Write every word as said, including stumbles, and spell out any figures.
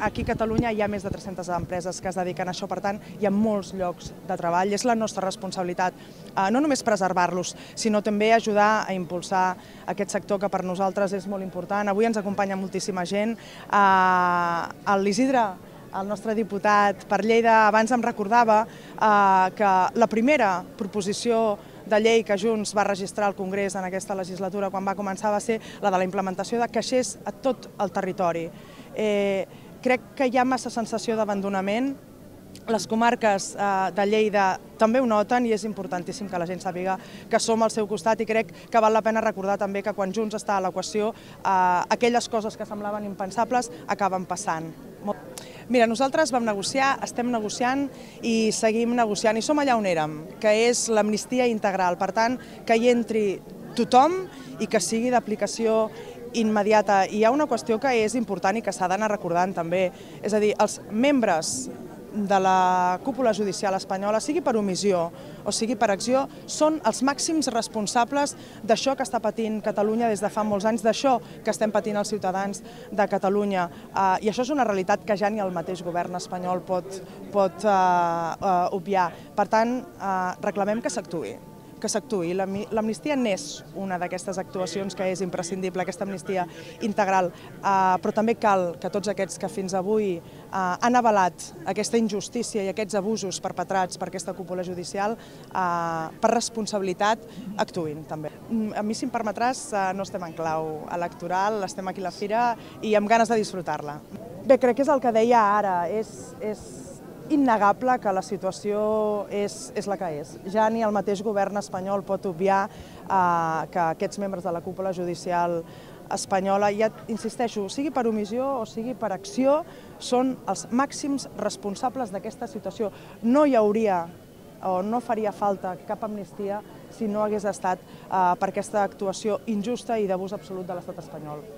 aquí a Catalunya hi ha més de tres-centes empreses que es dediquen a això, per tant, hi ha molts llocs de treball. És la nostra responsabilitat no només preservar-los, sinó també ajudar a impulsar aquest sector que per nosaltres és molt important. Avui ens acompanya moltíssima gent. L'Isidre, el nostre diputat per Lleida, abans em recordava que la primera proposició de llei que Junts va registrar al Congrés en aquesta legislatura quan va començar va ser la de la implementació de caixers a tot el territori. Crec que hi ha massa sensació d'abandonament. Les comarques de Lleida també ho noten i és importantíssim que la gent sàpiga que som al seu costat i crec que val la pena recordar també que quan Junts està a l'equació aquelles coses que semblaven impensables acaben passant. Mira, nosaltres vam negociar, estem negociant i seguim negociant i som allà on érem, que és l'amnistia integral. Per tant, que hi entri tothom i que sigui d'aplicació immediata. I hi ha una qüestió que és important i que s'ha d'anar recordant també, és a dir, els membres de la cúpula judicial espanyola, sigui per omissió o sigui per acció, són els màxims responsables d'això que està patint Catalunya des de fa molts anys, d'això que estem patint els ciutadans de Catalunya. I això és una realitat que ja ni el mateix govern espanyol pot obviar. Per tant, reclamem que s'actuï. que s'actuï. L'amnistia n'és una d'aquestes actuacions que és imprescindible, aquesta amnistia integral, però també cal que tots aquests que fins avui han avalat aquesta injustícia i aquests abusos perpetrats per aquesta cúpula judicial, per responsabilitat, actuïn també. A mi, si em permetràs, no estem en clau electoral, estem aquí a la fira i amb ganes de disfrutar-la. Bé, crec que és el que deia ara, és innegable que la situació és la que és. Ja ni el mateix govern espanyol pot obviar que aquests membres de la cúpula judicial espanyola, ja insisteixo, sigui per omissió o sigui per acció, són els màxims responsables d'aquesta situació. No hi hauria o no faria falta cap amnistia si no hagués estat per aquesta actuació injusta i d'abús absolut de l'estat espanyol.